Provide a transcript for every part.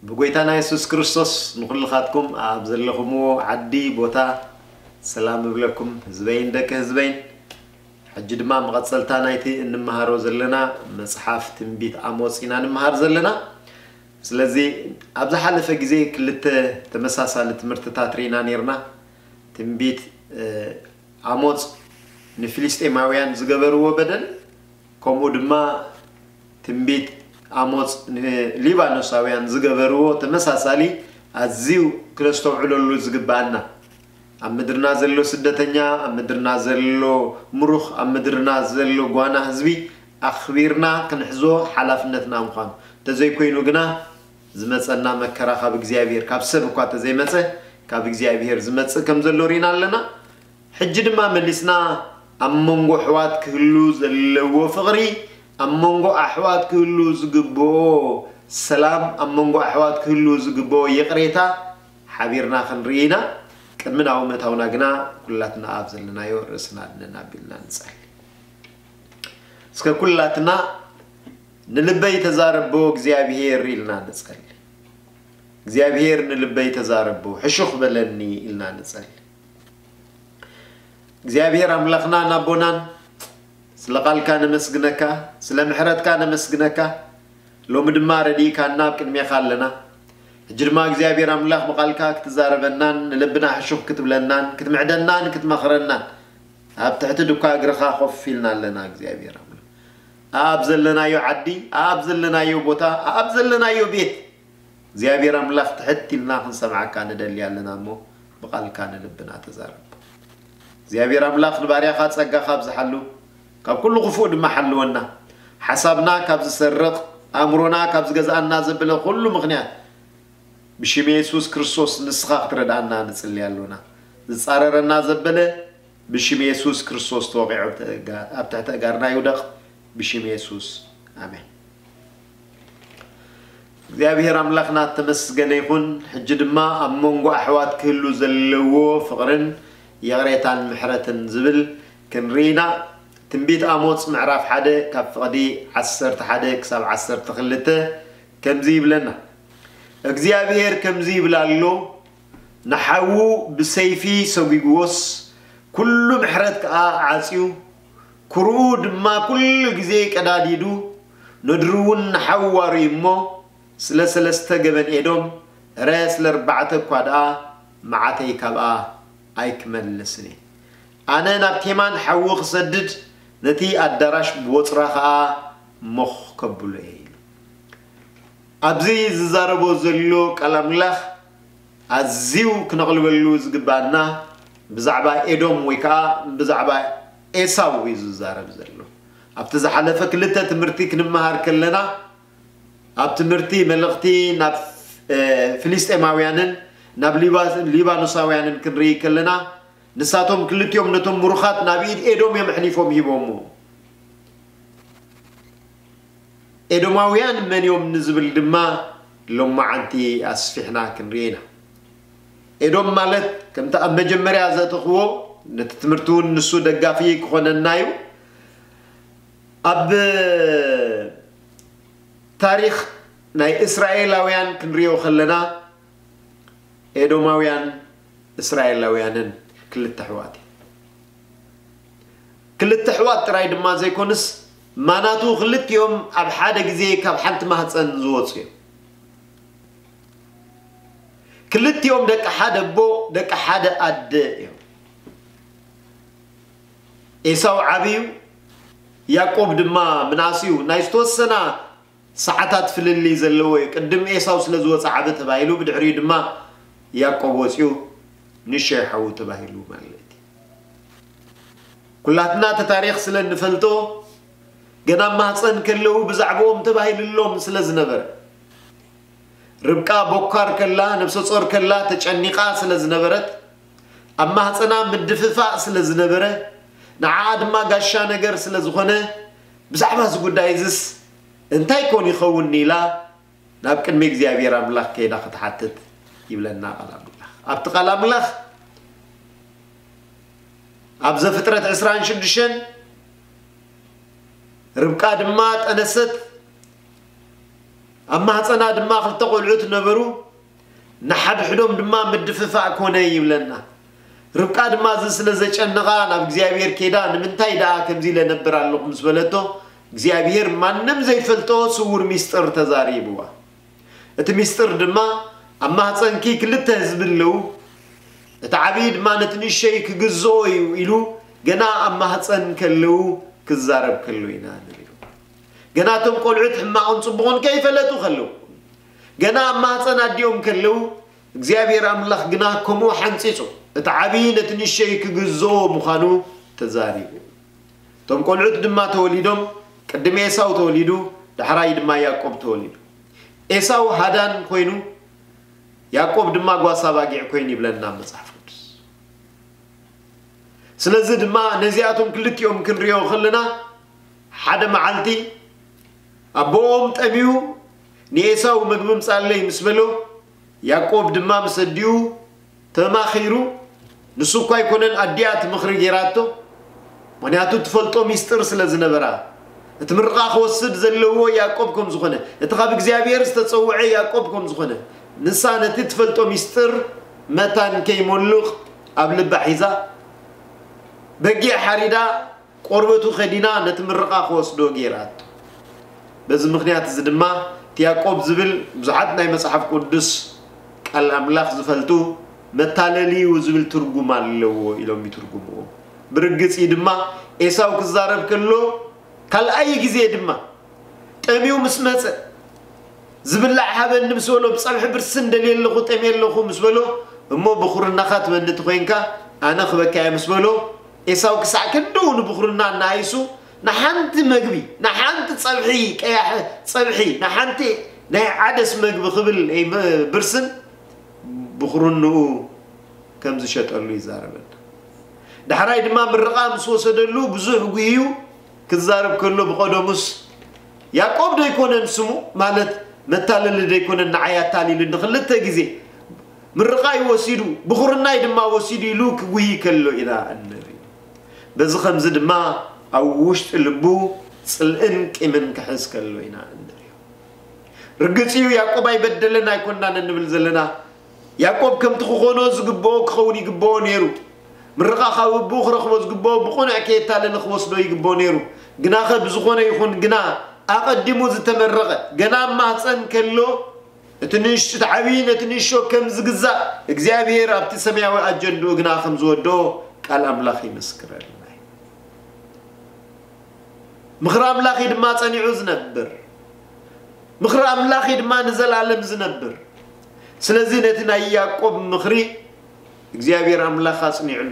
ብጎይታና የሱስ ክርስቶስ ንኹልኻትኩም ኣብ ዘለኹምዎ ዓዲ ቦታ ሰላም እብለኩም፣ ህዝበይን ደቂ ህዝበይን። ሕጂ ድማ መቐጸልታ ናይቲ እንመሃሮ ዘለና መጽሓፍ ትንቢት ኣሞጽ ኢና ንምሃር ዘለና። ስለዚ ኣብ ዝሓለፈ ግዜ ክልተ ተመሳሳሊ ትምህርትታት ርኢና ኔርና። ትንቢት ኣሞጽ ንፍልስጤማውያን ዝገበርዎ በደል፣ ከምኡ ድማ ትንቢት ኣሞጽ ንሊባኖሳውያን ዝገበርዎ ተመሳሳሊ ኣዝዩ ክነስተውዕለሉ ዝግባኣና፣ ኣብ ምድርና ዘሎ ስደተኛ፣ ኣብ ምድርና ዘሎ ምሩኽ፣ ኣብ ምድርና ዘሎ ጓና ህዝቢ ኣኽቢርና ክንሕዞ ሓላፍነትና ምዃኑ። እንተዘይኮይኑ ግና ዝመጸና መከራ ካብ እግዚኣብሔር፣ ካብ ሰብ እኳ እንተዘይመጸ ካብ እግዚኣብሔር ዝመጽእ ከም ዘሎ ርኢና ኣለና። ሕጂ ድማ መሊስና ኣብ መንጎ ኣሕዋት ክህሉ ዘለዎ ፍቕሪ፣ ኣብ መንጎ ኣሕዋት ክህሉ ዝግብኦ ሰላም፣ ኣብ መንጎ ኣሕዋት ክህሉ ዝግብኦ ይቕሬታ ሓቢርና ክንርኢ ኢና። ቅድሚ ናብኡ ምእታውና ግና ኩላትና ኣብ ዘለናዮ ርእስና ኣድነን ኣቢልና ንጸሊ። እስከ ኩላትና ንልበይ ተዛረቦ እግዚኣብሔር ኢልና ንጸሊ። እግዚኣብሔር ንልበይ ተዛረቦ ሕሹኽ በለኒ ኢልና ንጸሊ። እግዚኣብሔር ኣምላኽናን ኣቦናን ስለ ቃልካ ነመስግነካ፣ ስለ ምሕረትካ ነመስግነካ። ሎሚ ድማ ረዲእካና ኣብ ቅድሜኻ ኣለና። ሕጂ ድማ እግዚኣብሔር ኣምላኽ ብቃልካ ክትዛረበናን ንልብና ሕሹኽ ክትብለናን ክትምዕደናን ክትመኽረናን ኣብ ትሕቲ ድኳ እግርኻ ኮፍ ኢልና ኣለና። እግዚኣብሔር ኣምላኽ ኣብ ዘለናዮ ዓዲ፣ ኣብ ዘለናዮ ቦታ፣ ኣብ ዘለናዮ ቤት እግዚኣብሔር ኣምላኽ ትሕት ኢልና ክንሰምዓካ ንደሊ ኣለና እሞ ብቃልካ ንልብና ተዛረብ። እግዚኣብሔር ኣምላኽ ንባርያኻ ጸጋኻ ኣብዝሓሉ፣ ካብ ኩሉ ክፉእ ድማ ሓልወና። ሓሳብና ካብ ዝሰርቕ፣ ኣእምሮና ካብ ዝገዝኣና ዘበለ ኩሉ ምኽንያት ብሽም የሱስ ክርስቶስ ንስኻ ክትረድኣና ንጽሊ ኣሎና። ዝጻረረና ዘበለ ብሽም የሱስ ክርስቶስ ተወቒዑ ኣብ ትሕቲ ኣጋ-፣ ኣብ ትሕቲ ኣጋርና ይውደቕ። ብሽም የሱስ ኣሜን። እግዚኣብሔር ኣምላኽና እተመስገነ ይኹን። ሕጂ ድማ ኣብ መንጎ ኣሕዋት ክህሉ ዘለዎ ፍቕርን ይቕሬታን ምሕረትን ዝብል ክንርኢ ኢና። ትንቢት ኣሞጽ ምዕራፍ ሓደ ካብ ፍቕዲ ዓሰርተ ሓደ ክሳብ ዓሰርተ ክልተ ከምዚ ይብለና። እግዚኣብሔር ከምዚ ይብል ኣሎ፣ ንሓዉ ብሰይፊ ሰጒግዎስ፣ ኩሉ ምሕረት ከኣ ዓጽዩ፣ ኩርኡ ድማ ኩሉ ግዜ ቀዳዲዱ፣ ነድሩ እውን ንሓዉ ዋርዩ እሞ፣ ስለ ሰለስተ ገበን ኤዶም፣ እረ ስለ ኣርባዕተ እኳ ደኣ መዓተይ ካብኣ ኣይክመልስን እየ። ኣነ ናብ ቴማን ሓዊ ክሰድድ፣ ነቲ ኣዳራሽ ብወጽራ ኸኣ ሞኽ ከብሎ እየ ኢሉ። ኣብዚ ዝዛረቦ ዘሎ ቃል ኣምላኽ ኣዝዩ ክነቕልበሉ ዝግባኣና ብዛዕባ ኤዶም ወይ ከኣ ብዛዕባ ኤሳው እዩ ዝዛረብ ዘሎ። ኣብቲ ዝሓለፈ ክልተ ትምህርቲ ክንመሃር ከለና፣ ኣብ ትምህርቲ መልእኽቲ ናብ፣ እ፣ ፍልስጤማውያንን ናብ ሊባ-፣ ሊባኖሳውያንን ክንርኢ ከለና፣ ንሳቶም ክልቲኦም ነቶም ምሩኻት ናብ ኢድ ኤዶም እዮም ኣሕሊፎም ሂቦምዎ። ኤዶማውያን መን እዮም ንዝብል ድማ ሎማዓንቲ ኣስፊሕና ክንርኢ ኢና። ኤዶም ማለት ከምቲ ኣብ መጀመርያ ዘእተኽዎ፣ ነቲ ትምህርቲ እውን ንሱ ደጋፊ ክኾነና እዩ። ኣብ ታሪኽ ናይ እስራኤላውያን ክንሪኦ ከለና፣ ኤዶማውያን እስራኤላውያንን ክልተ ኣሕዋት እዮም። ክልተ ኣሕዋት ጥራይ ድማ ዘይኮኑስ፣ ማናቱ ክልቲኦም ኣብ ሓደ ግዜ ካብ ሓንቲ ማህፀን ዝወፁ እዮም። ክልቲኦም ደቂ ሓደ ኣቦ፣ ደቂ ሓደ ኣደ እዮም። ኤሳው ዓብዩ፣ ያዕቆብ ድማ ምናስዩ። ናይ ዝተወሰና ሰዓታት ፍልልይ ዘለዎ እዩ። ቅድም ኤሳው ስለ ዝወፀ ዓቢ ተባሂሉ፣ ብድሕሪኡ ድማ ያዕቆብ ወፂኡ ንእሽተይ ሓዉ ተባሂሉ ማለት እዩ። ኩላትና እቲ ታሪኽ ስለ እንፈልጦ፣ ገና ኣብ ማህፀን ከለዉ ብዛዕባኦም ተባሂሉሎም ስለ ዝነበረ፣ ርብቃ ቦካር ከላ፣ ነብሰ ጾር ከላ ተጨኒቓ ስለ ዝነበረት፣ ኣብ ማህፀና ምድፍፋእ ስለ ዝነበረ፣ ንዓኣ ድማ ጋሻ ነገር ስለ ዝኾነ፣ ብዛዕባ እዚ ጉዳይ እዝስ እንታይ ኮን ይኸውን ኢላ ናብ ቅድሚ እግዚኣብሔር ኣምላኽ ከይዳ ክትሓትት ይብለና ቃል ኣምላኽ። ኣብቲ ቃል ኣምላኽ ኣብ ዘፍጥረት ዕስራን ሽዱሽተን፣ ርብቃ ድማ ጠነሰት፣ ኣብ ማህፀና ድማ ክልተ ቆልዑት ነበሩ፣ ንሓድሕዶም ድማ ምድፍፋእ ኮነ ይብለና። ርብቃ ድማ እዚ ስለ ዘጨነቓ ናብ እግዚኣብሔር ኬዳ፣ ንምንታይ ደኣ ከምዚ ኢለ ነብር ኣለኹ ምስ በለቶ፣ እግዚኣብሔር ማንም ዘይፈልጦ ስውር ሚስጥር ተዛሪብዋ። እቲ ሚስጥር ድማ ኣብ ማህፀንኪ ክልተ ህዝቢ ኣለዉ፣ እቲ ዓብዪ ድማ ነቲ ንእሸይ ክግዝኦ እዩ ኢሉ ገና ኣብ ማህፀን ከለዉ ክዛረብ ከሎ ኢና ንሪኦ። ገና እቶም ቆልዑት ሕማቕን ጽቡቕን ከይፈለጡ ከለዉ፣ ገና ኣብ ማህፀን ኣዲኦም ከለዉ እግዚኣብሔር ኣምላኽ ግና ከምኡ ሓንጺጹ እቲ ዓብዪ ነቲ ንእሸይ ክግዝኦ ምዃኑ ተዛሪቡ። እቶም ቆልዑት ድማ ተወሊዶም፣ ቅድሚ ኤሳው ተወሊዱ፣ ዳሕራይ ድማ ያዕቆብ ተወሊዱ። ኤሳው ሃዳን ኮይኑ፣ ያዕቆብ ድማ ጓሳ ባጊዕ ኮይኑ ይብለና መጽሓፍ ቅዱስ። ስለዚ ድማ ነዚኣቶም ክልቲኦም ክንሪኦ ከለና፣ ሓደ መዓልቲ ኣቦኦም ጠምዩ ንኤሳው መግቢ ምጻለይ ምስ በሎ፣ ያዕቆብ ድማ ምስ ኣዲኡ ተማኺሩ፣ ንሱ እኳ ኣይኮነን ኣዲኣ እቲ ምኽሪ ጌራቶ፣ ምኽንያቱ ትፈልጦ ሚስጥር ስለ ዝነበራ፣ እቲ ምርቓ ክወስድ ዘለዎ ያዕቆብ ከም ዝኾነ፣ እቲ ካብ እግዚኣብሔር ዝተጸውዐ ያዕቆብ ከም ዝኾነ፣ ንሳ ነቲ ትፈልጦ ሚስጥር መታን ከይሞልቕ ኣብ ልባ ሒዛ፣ በጊዕ ሓሪዳ ቆርበቱ ከዲና ነቲ ምርቓ ክወስዶ ገይራቶ። በዚ ምኽንያት እዚ ድማ እቲ ያዕቆብ ዝብል ብዙሓት ናይ መጽሓፍ ቅዱስ ቃል ኣምላኽ ዝፈልጡ መታለሊ እዩ ዝብል ትርጉም ኣለዎ ኢሎም ይትርጉምዎ። ብርግጽ እዩ ድማ ኤሳው ክዛረብ ከሎ ካልኣይ ግዜ ድማ ጠምዩ ምስ መጸ ዝብላዕ ሃበኒ ምስ በሎ፣ ብጸብሒ ብርስን ደልየ ኣለኹ፣ ጠምየ ኣለኹ ምስ በሎ፣ እሞ ብኹርናኻ ትበኒ እንተኾይንካ ኣነ ክበካ እየ ምስ በሎ፣ ኤሳው ክሳዕ ክንድኡ ንብኹርና እናኣይሱ ንሓንቲ መግቢ፣ ንሓንቲ ጸብሒ ቀያሕ ጸብሒ፣ ንሓንቲ ናይ ዓደስ መግቢ ክብል ብርስን ብኹርንኡ ከም ዝሸጠሉ ይዛረበና። ዳሕራይ ድማ ምርቓ ምስ ወሰደሉ ብዙሕ ጉህዩ ክዛረብ ከሎ ብቐደሙስ ያዕቆብ ዶ ኣይኮነን ስሙ? ማለት መታለሊ ዶ ኣይኮነን ንዓይ ኣታሊሉ ንኽልተ ግዜ ምርቓይ ወሲዱ ብኹርናይ ድማ ወሲዱ ኢሉ ክጉሂ ከሎ ኢና እንርኢ። በዚ ኸምዚ ድማ ኣብ ውሽጢ ልቡ ጽልእን ቂምን ክሕዝ ከሎ ኢና እንርእዮ። ርግጽ እዩ ያዕቆብ ኣይበደለን ኣይኮናን እንብል ዘለና። ያዕቆብ ከምቲ ክኾኖ ዝግብኦ ክኸውን ይግብኦ ነይሩ። ምርቓ ካብ ኣቦኡ ክረኽቦ ዝግብኦ ብቕኑዕ ከየታለለ ክወስዶ ይግብኦ ነይሩ። ግናኸ ብዝኾነ ይኹን ግና ኣቐዲሙ ዝተመረቐ ገና ኣብ ማህፀን ከሎ እቲ ንእሽ እቲ ዓብዪ ነቲ ንእሾ ከም ዝግዛእ እግዚኣብሔር ኣብቲ ሰማያዊ ኣጀንድኡ ግና ከም ዝወድኦ ቃል ኣምላኽ ይምስክረልና እዩ። ምኽሪ ኣምላኽ እዩ ድማ ጸኒዑ ዝነብር። ምኽሪ ኣምላኽ እዩ ድማ ንዘለኣለም ዝነብር። ስለዚ ነቲ ናይ ያዕቆብ ምኽሪ እግዚኣብሔር ኣምላኽ ኣጽኒዕሉ።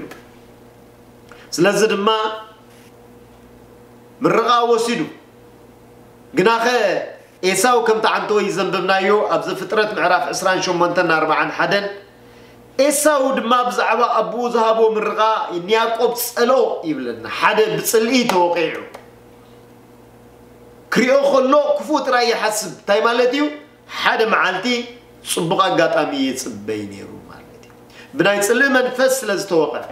ስለዚ ድማ ምርቓ ወሲዱ። ግናኸ ኤሳው ከምቲ ዓንተወይ ዘንበብናዮ ኣብ ዘፍጥረት ምዕራፍ ዕስራን ሸሞንተን ኣርባዓን ሓደን፣ ኤሳው ድማ ብዛዕባ ኣቦኡ ዝሃቦ ምርቓ ንያዕቆብ ጸልኦ ይብለና። ሓደ ብጽልኢ ተወቒዑ ክሪኦ ከሎ ክፉእ ጥራይ ይሓስብ። እንታይ ማለት እዩ? ሓደ መዓልቲ ጽቡቕ ኣጋጣሚ ይጽበይ ነይሩ ማለት እዩ። ብናይ ጽልኢ መንፈስ ስለ ዝተወቐዐ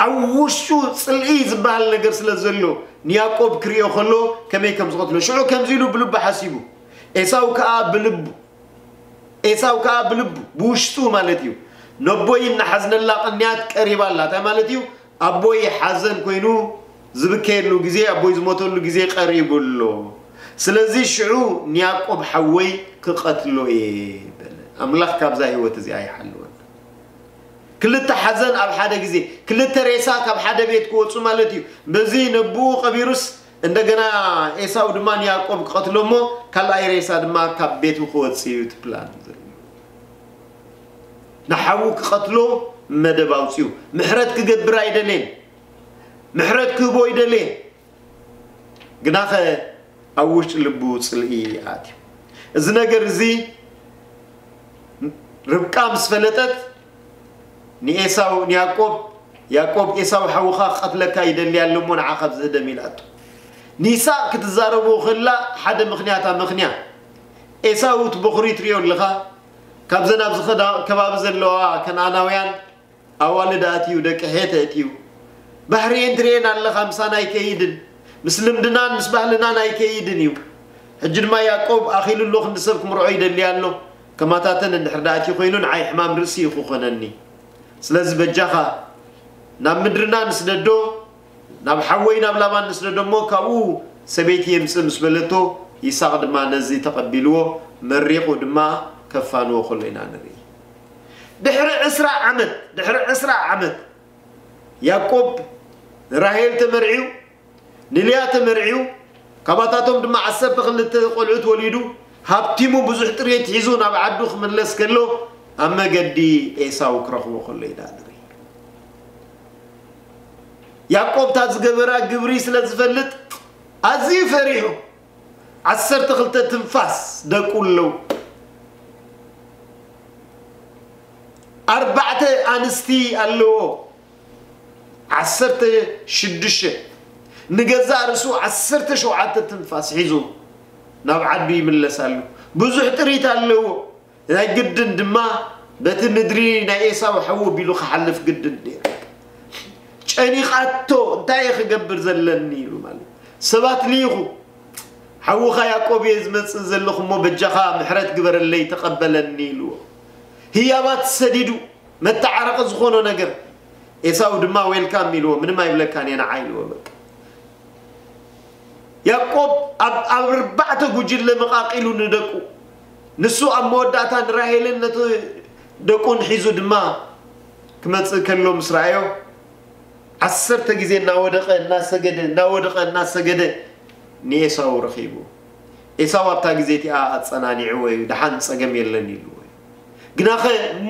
ኣብ ውሽጡ ጽልኢ ዝበሃል ነገር ስለ ዘሎ ንያዕቆብ ክሪኦ ከሎ ከመይ ከም ዝቐትሎ ሽዑ ከምዚ ኢሉ ብልቡ ሓሲቡ። ኤሳው ከኣ ብልቡ ኤሳው ከኣ ብልቡ ብውሽጡ ማለት እዩ ነቦይ እናሓዝነላ ቅንያት ቀሪባ ኣላ። እንታይ ማለት እዩ? ኣቦይ ሓዘን ኮይኑ ዝብከየሉ ግዜ ኣቦይ ዝሞተሉ ግዜ ቀሪቡ ኣሎ። ስለዚ ሽዑ ንያዕቆብ ሓወይ ክቐትሎ እየ በለ። ኣምላኽ ካብዛ ህይወት እዚኣ ይሓልወና። ክልተ ሓዘን ኣብ ሓደ ግዜ፣ ክልተ ሬሳ ካብ ሓደ ቤት ክወፁ ማለት እዩ። በዚ ነብኡ ቀቢሩስ እንደገና ኤሳው ድማ ንያዕቆብ ክቐትሎ እሞ ካልኣይ ሬሳ ድማ ካብ ቤቱ ክወፅእ እዩ እቲ ፕላን ዘሎ። ንሓዉ ክቐትሎ መደብ ኣውፅኡ። ምሕረት ክገብር ኣይደለየን። ምሕረት ክህቦ ኣይደለየን። ግናኸ ኣብ ውሽጢ ልቡ ጽልኢ ኣትዩ። እዚ ነገር እዚ ርብቃ ምስ ፈለጠት ንኤሳው ንያዕቆብ ያዕቆብ ኤሳው ሓውኻ ክቐትለካ ይደሊ ኣሎ እሞ ንዓኻ ኣብዚ ህደም ኢላቶ። ንይስሐቅ ክትዛረቡ ከላ ሓደ ምኽንያት ኣመኽንያ። ኤሳው እቲ በኹሪ ትሪኦ ኣለኻ፣ ካብዘን ኣብዚ ኸዳ- ከባቢ ዘለዋ ከነኣናውያን ኣዋልድ ኣትዩ፣ ደቂ ሄት ኣእትዩ። ባሕሪኤን ትሪኤን ኣለኻ፣ ምሳና ኣይከይድን፣ ምስ ልምድናን ምስ ባህልናን ኣይከይድን እዩ። ሕጂ ድማ ያዕቆብ ኣኺሉ ኣሎ፣ ክንዲ ሰብ ክምርዖ ይደሊ ኣሎ። ከማታተን እንድሕር ደኣ እቲ ኮይኑ ንዓይ ሕማም ርእሲ እዩ ክኾነኒ። ስለዚ በጃኻ ናብ ምድርና ንስደዶ፣ ናብ ሓወይ ናብ ላባን ንስደዶ እሞ ካብኡ ሰበይቲ የምጽእ ምስ በለቶ፣ ይስሐቅ ድማ ነዚ ተቐቢልዎ መሪቑ ድማ ከፋንዎ ከሎ ኢና ንርኢ። ድሕሪ ዕስራ ዓመት ድሕሪ ዕስራ ዓመት ያዕቆብ ንራሄል ተመርዒው፣ ንልያ ተመርዒው፣ ካባታቶም ድማ ዓሰርተ ክልተ ቆልዑት ወሊዱ፣ ሃብቲሙ ብዙሕ ጥሪት ሒዙ ናብ ዓዱ ክምለስ ከሎ ኣብ መገዲ ኤሳው ክረኽቦ ከሎ ኢና ንርኢ። ያዕቆብ እታ ዝገበራ ግብሪ ስለ ዝፈልጥ ኣዝዩ ፈሪሑ። ዓሰርተ ክልተ ትንፋስ ደቁ ኣለዉ። ኣርባዕተ ኣንስቲ ኣለዎ። ዓሰርተ ሽዱሽተ ንገዛእ ርእሱ ዓሰርተ ሸውዓተ ትንፋስ ሒዙ ናብ ዓዱ ይምለስ ኣሎ። ብዙሕ ጥሪት ኣለዎ። ናይ ግድን ድማ በቲ ምድሪ ናይ ኤሳው ሓዉ ኣቢሉ ክሓልፍ ግድን ነይሩ። ጨኒቓቶ፣ እንታይ እየ ክገብር ዘለኒ ኢሉ ማለት። ሰባት ልኢኹ፣ ሓውኻ ያዕቆብ እየ ዝመጽእ ዘለኹ እሞ በጃኻ ምሕረት ግበረለይ ተቐበለኒ ኢልዎ። ህያባት ሰዲዱ መተዓረቒ ዝኾኖ ነገር ኤሳው ድማ ዌልካም ኢልዎ፣ ምንም ኣይብለካን እየ ንዓ ኢልዎ። በቃ ያዕቆብ ኣብ ኣብ ኣርባዕተ ጉጅለ መቓቒሉ ንደቁ፣ ንሱ ኣብ መወዳእታ ንራሄልን ነቲ ደቁን ሒዙ ድማ ክመጽእ ከሎ ምስ ረኣዮ፣ ዓሰርተ ግዜ እናወደቐ እናሰገደ እናወደቐ እናሰገደ ንኤሳው ረኺቡ። ኤሳው ኣብታ ግዜ እቲኣ ኣጸናኒዕዎ እዩ፣ ደሓን ጸገም የለን ኢልዎ እዩ። ግናኸ